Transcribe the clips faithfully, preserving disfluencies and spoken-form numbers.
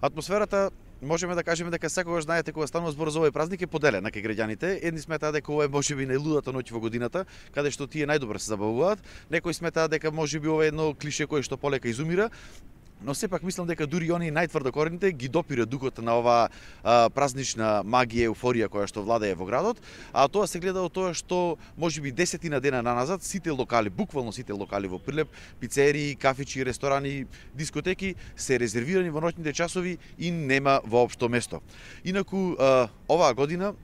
Атмосферата можеме да кажеме дека секогаш, знаете, кога станува збор за овој празник е поделена кај граѓаните. Едни сметаат дека ова е можеби најлудата ноќ во годината, каде што тие најдобро се забавуваат. Некои сметаат дека можеби ова е едно клише кое што полека изумира. Но сепак мислам дека дури они најтврдокорените ги допира духот на оваа а, празнична магија, еуфорија која што владее во градот, а тоа се гледа од тоа што можеби десетина дена наназад сите локали, буквално сите локали во Прилеп, пицерии, кафичи, ресторани, дискотеки се резервирани во ноќните часови и нема воопшто место. Инаку а, оваа година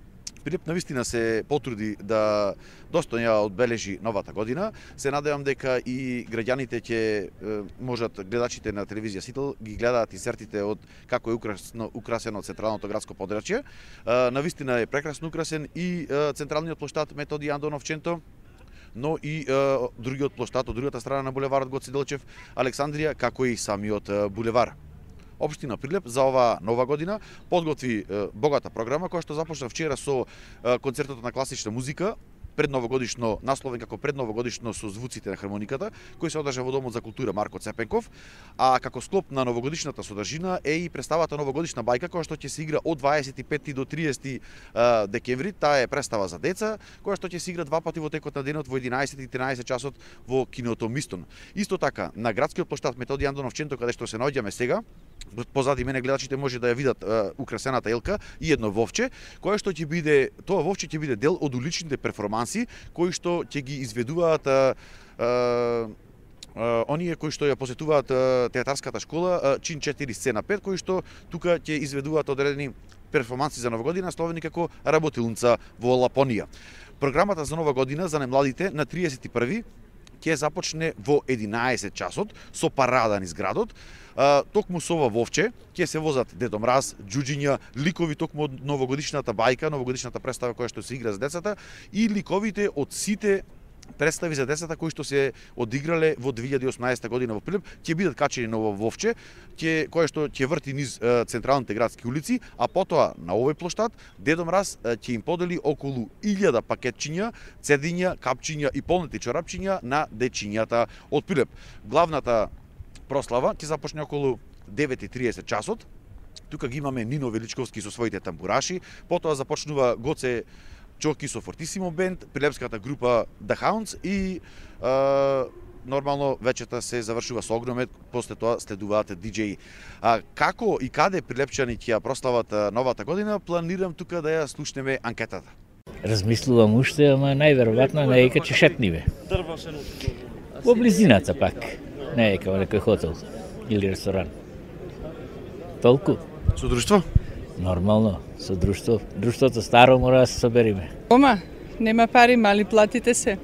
Прилеп навистина се потруди да достојно ја одбележи новата година. Се надевам дека и граѓаните ќе можат, гледачите на телевизија Сител ги гледаат инсертите од како е украсно, украсено централното градско подрачје. Навистина е прекрасно украсен и централниот плоштад Методи Андонов Ченто, но и е, другиот плоштад од другата страна на булеварот Гоце Делчев Александрија, како и самиот булевар. Општина Прилеп за оваа нова година подготви е, богата програма која што започна вчера со е, концертот на класична музика, предновогодишно насловен како предновогодишно со звуците на хармониката, кој се одржа во Домот за култура Марко Цепенков, а како склоп на новогодишната содржина е и представата Новогодишна бајка која што ќе се игра од дваесет и пети до триесети декември. Таа е представа за деца која што ќе се игра два пати во текот на денот во единаесет и тринаесет часот во киното Мистон. Исто така на градскиот плоштад Методи Андонов Ченто, каде што се наоѓаме сега, позади мене гледачите може да ја видат е, украсената елка и едно вовче, кое што ќе биде, тоа вовче ќе биде дел од уличните перформанси кои што ќе ги изведуваат е, е, оние кои што ја посетуваат е, театарската школа чин четири сцена пет, кои што тука ќе изведуваат одредени перформанси за нова година, словени како работилница во Лапонија. Програмата за нова година за најмладите на триесет и први ќе започне во единаесет часот со парада низ градот. А, токму со ова вовче ќе се возат Дедо Мраз, џуџиња, ликови токму од новогодишната бајка, новогодишната представа која што се игра за децата и ликовите од сите представи за децата кои што се одиграле во две илјади и осумнаесета година во Прилеп, ќе бидат качени на ова вовче, ќе кое што ќе врти низ е, централните градски улици, а потоа на овој плоштад Дедо Мраз е, ќе им подели околу илјада пакетчиња, цедиња, капчиња и полнети чорапчиња на дечињата од Прилеп. Главната прослава ќе започне околу девет и триесет часот. Тука ги имаме Нино Величковски со своите тамбураши, потоа започнува Гоце Чоки со Фортисимо бенд, прилепската група The Hounds и е, нормално вечерта се завршува со огромет, после тоа следуваат диџеи. А како и каде прилепчани ќе ја прослават новата година, планирам тука да ја слушнеме анкетата. Размислувам уште, ама најверојатно не е кај шетниве. Во близината пак, не е кај некој хотел или ресторан. Толку. Со друштво? Нормално, со друштво. Друштвото старо мора да се собериме. Дома, нема пари, мали платите се.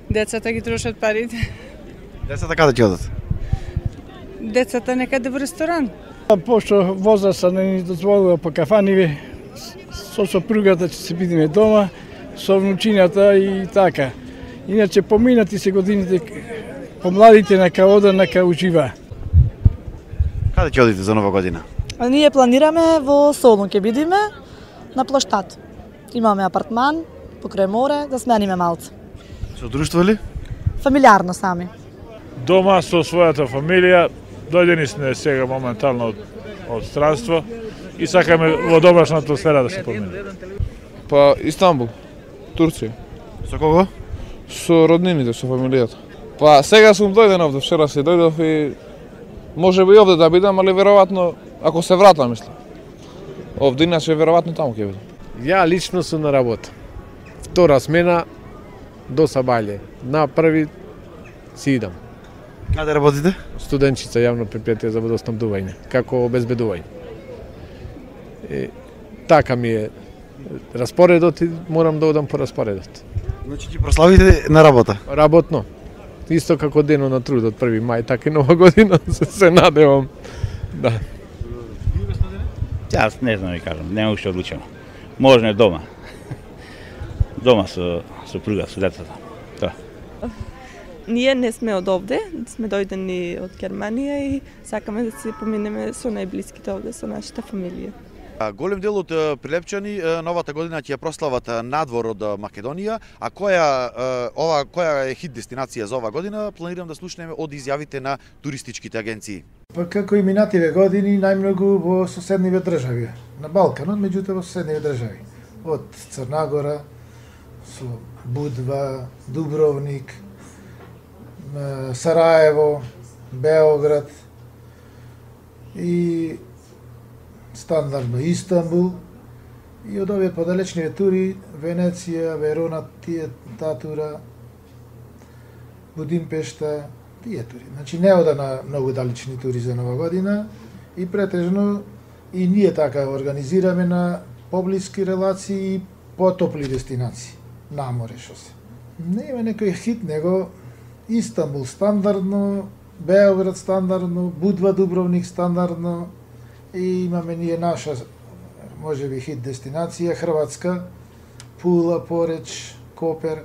Децата ги трошат парите. Децата каде ќе одат? Децата некаде во ресторан. Пошто возраста не ни дозволува по кафаниве, со сопругата ќе се бидеме дома, со внучињата и така. Иначе поминати се годините, помладите нека ода, нека ужива. Каде ќе одите за нова година? А ние планираме во Солун ќе бидеме на плоштад. Имаме апартман покрај море, да смениме малце. Со друштво ли? Фамилиарно сами. Дома со својата фамилија, дојдени сме сега моментално од, од странство и сакаме во домашна атмосфера да се помине. Па Истанбул, Турција. Со кого? Со роднините, со фамилијата. Па сега сум дојден овде, вчера се дојдов и може би овде да бидам, али веројатно ако се вратам, мислам. Овде иначе веројатно таму ќе бидам. Ја лично сум на работа. Втора смена до Сабајле. На први си идам. Каде работите? Студенчица јавно предпријатие за водоснабдување, како обезбедување. И, така ми е распоредот и морам да одам по распоредот. Значи ќе прославите на работа? Работно. Исто како денот на трудот, први мај, така и нова година, се, се надевам. Да. Јас не знам да ви кажам, нема уште одлучено. Можно е дома. Дома со сопруга, со децата. Тоа. Ние не сме од овде, сме дојдени од Германија и сакаме да се поминеме со најблиските овде, со нашата фамилија. Голем дел од прилепчани новата година ќе ја прослават надвор од Македонија, а која ова која е хит дестинација за ова година, планирам да слушнеме од изјавите на туристичките агенции. Па како и минативе години, најмногу во соседниве држави. На Балканот, меѓутоа во соседниве држави. Од Црна Гора, со Будва, Дубровник, Сараево, Београд и стандардно Истанбул. И од овие подалечниве тури, Венеција, Верона, тие таа тура, Будимпешта, тие тури. Значи не ода на многу далечни тури за Нова година и претежно и ние така организираме на поблиски релации и потопли дестинации. На море шо се. Не има некој хит, него Истанбул стандардно, Београд стандардно, Будва, Дубровник стандардно и имаме ние наша може би хит дестинација, Хрватска, Пула, Пореч, Копер.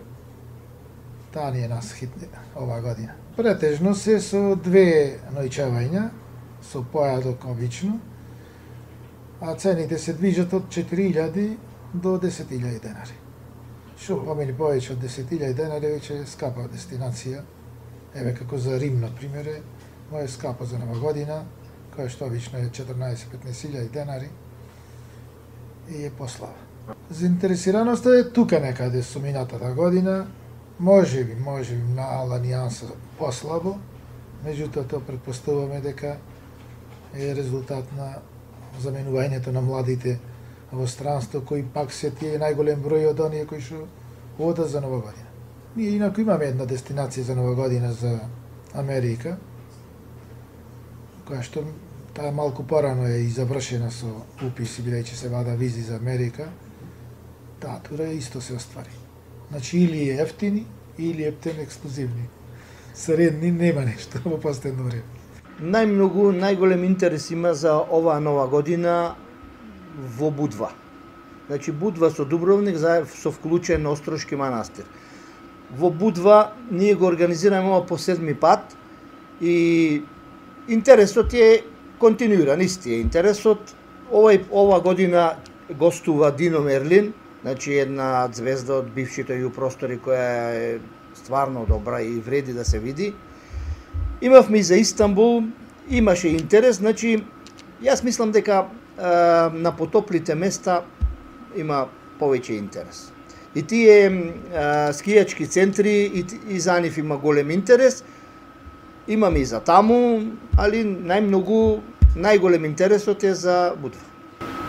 Таа ни е нас хит оваа година. Претежно се со две ноќавања, со појадок обично, а цените се движат од четири илјади до десет илјади денари. Шо помени повеќе од десет илјади денари, веќе е скапа дестинација. Еве како за Рим, например, е моја скапа за Нова година, која што обично е четрнаесет-петнаесет илјади денари и е послава. Заинтересираноста е тука некаде со минатата година, може би, може би мала нијанса послабо, меѓутоа тоа претпоставуваме дека е резултат на заменувањето на младите во странство, кои пак се тие најголем број од оние кои што одат за Нова година. Ние инаку имаме една дестинација за Нова година за Америка, која што таа малку порано е и завршена со уписи, бидејќи се вада визи за Америка. Таа тура исто се оствари. Значи или е ефтини, или ептен ексклузивни. Средни нема нешто во последно време. Најмногу, најголем интерес има за оваа Нова година во Будва. Значи Будва со Дубровник со вклучен Острошки манастир. Во Будва ние го организираме ова по седми пат и интересот е континуиран, исти е интересот. Овај ова година гостува Дино Мерлин, значи една звезда од бившите ју простори која е стварно добра и вреди да се види. Имавме и за Истанбул, имаше интерес, значи јас мислам дека е, на потоплите места има повеќе интерес. И тие е, скијачки центри и, и за нив има голем интерес. Имаме и за таму, али најмногу, најголем интересот е за Будва.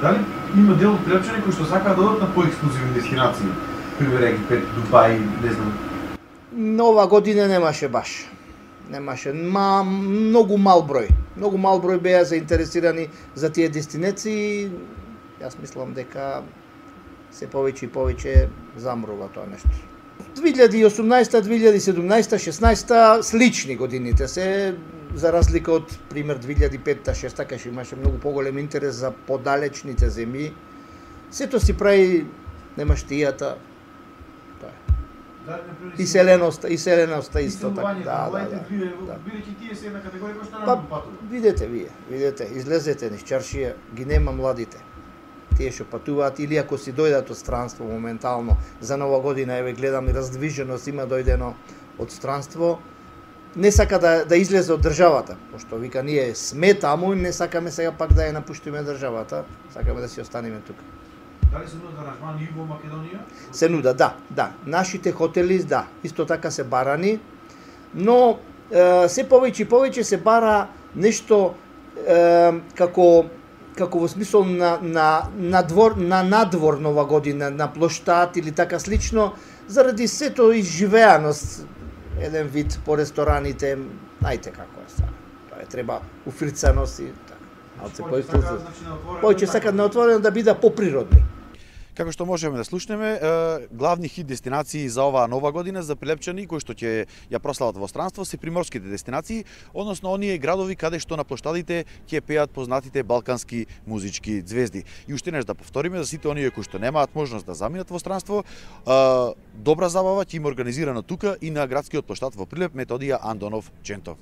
Дали има дел од прилепчани кои што сакаат да одат на поексклузивни дестинации? Пример Египет, Дубај, не знам. Нова година немаше баш. Немаше, ма многу мал број. Многу мал број беа заинтересирани за тие дестинации. Јас мислам дека се повеќе и повеќе замрува тоа нешто. две илјади и осумнаесета, две илјади и седумнаесета, шеснаесета слични годините се, за разлика од пример две илјади и петта, шеста, кај имаше многу поголем интерес за подалечните земји. Сето си прави немаштијата. И селеноста, и селеноста исто така. Да, да, да. Бидејќи тие се една категорија која што Па, не патува. видете вие, видете, излезете низ чаршија, ги нема младите. Тие што патуваат или ако си дојдат од странство моментално за Нова година, еве гледам и раздвиженост има дојдено од странство, не сака да да излезе од државата, пошто вика ние сме таму и не сакаме сега пак да ја напуштиме државата, сакаме да си останеме тука. Дали се нудат аранжмани и во Македонија? Се нуда, да, да. Нашите хотели, да, исто така се барани, но е, се повеќе и повеќе се бара нешто е, како како во смисол на на надвор на надвор Нова година, на плоштад или така слично, заради сето изживеаност, еден вид по рестораните, најте како е сега. Тоа е треба уфрицаност и така. Алце повеќе сакаат на отворено да биде поприродни. Како што можеме да слушнеме, главни хит дестинации за оваа Нова година за прилепчани кои што ќе ја прослават во странство се приморските дестинации, односно оние градови каде што на плоштадите ќе пеат познатите балкански музички звезди. И уште нешто да повториме за сите оние кои што немаат можност да заминат во странство, добра забава ќе има организирано тука и на градскиот плоштад во Прилеп Методија Андонов Ченто.